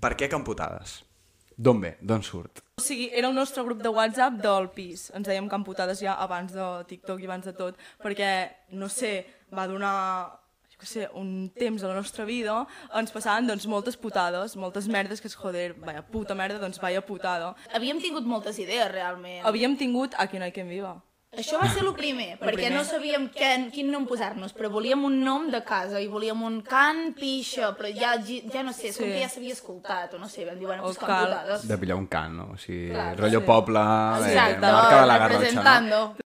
Per què Camputades? D'on ve? D'on surt? O sigui, era el nostre grup de WhatsApp del pis. Ens dèiem Camputades ja abans de TikTok i abans de tot, perquè, no sé, va donar un temps a la nostra vida, ens passaven doncs moltes putades, moltes merdes que és, joder, vaya puta merda, doncs vaya putada. Havíem tingut moltes idees, realment. Havíem tingut Aquí no hay quien viva. Això va ser el primer, perquè no sabíem quin nom posar-nos, però volíem un nom de casa i volíem un cant pixa, però ja no sé, és com que ja s'havia escoltat, o no sé, vam dir, bueno, pues Camputades. De pillar un cant, no? O sigui, rotllo poble, Exacte, de marca de la Garrotxa, no? representando.